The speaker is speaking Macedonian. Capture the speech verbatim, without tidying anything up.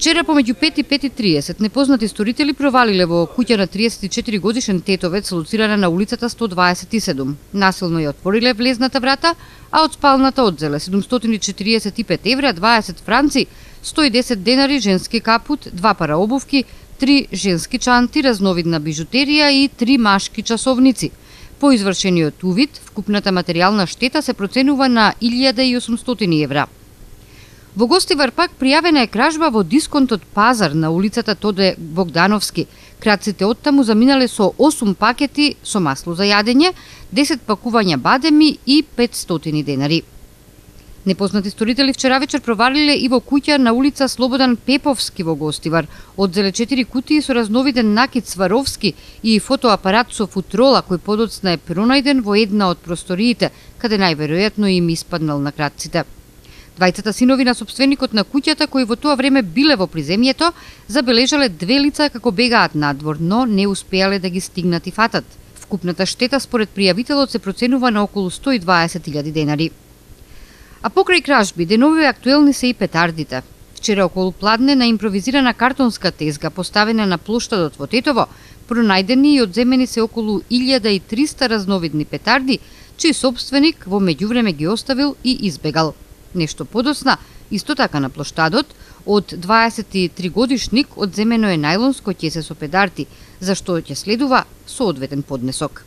Вчера помеѓу пет и пет и триесет непознати сторители провалиле во куќа на триесет и четири годишен тетовец лоцирана на улицата сто дваесет и седум. Насилно ја отвориле влезната врата, а од спалната одзеле седумстотини четириесет и пет евра, дваесет франци, сто и десет денари, женски капут, два пара обувки, три женски чанти, разновидна бижутерија и три машки часовници. По извршениот увид, вкупната материјална штета се проценува на илјада и осумстотини евра. Во Гостивар пак пријавена е кражба во дисконтот Пазар на улицата Тоде Богдановски. Крадците оттаму заминале со осум пакети со масло за јадење, десет пакувања бадеми и петстотини денари. Непознати сторители вчера вечер провалиле и во куќа на улица Слободан Пеповски во Гостивар. Одзеле четири кутии со разновиден накид Сваровски и фотоапарат со футрола кој подоцна е пронајден во една од просториите, каде најверојатно им испаднал на крадците. Двајцата синови на собственикот на куќата, кои во тоа време биле во приземјето, забележале две лица како бегаат надвор, но не успеале да ги стигнат и фатат. Вкупната штета според пријавителот се проценува на околу сто и дваесет илјади денари. А покрај кражби, деновиве актуелни се и петардите. Вчера околу пладне на импровизирана картонска тезга поставена на плоштадот во Тетово, пронајдени и одземени се околу илјада и триста разновидни петарди, чиј собственик во меѓувреме ги оставил и избегал. Нешто подоцна, исто така на плоштадот, од дваесет и три годишник одземено е најлонско ќесе со петарди, за што ќе следува соодветен поднесок.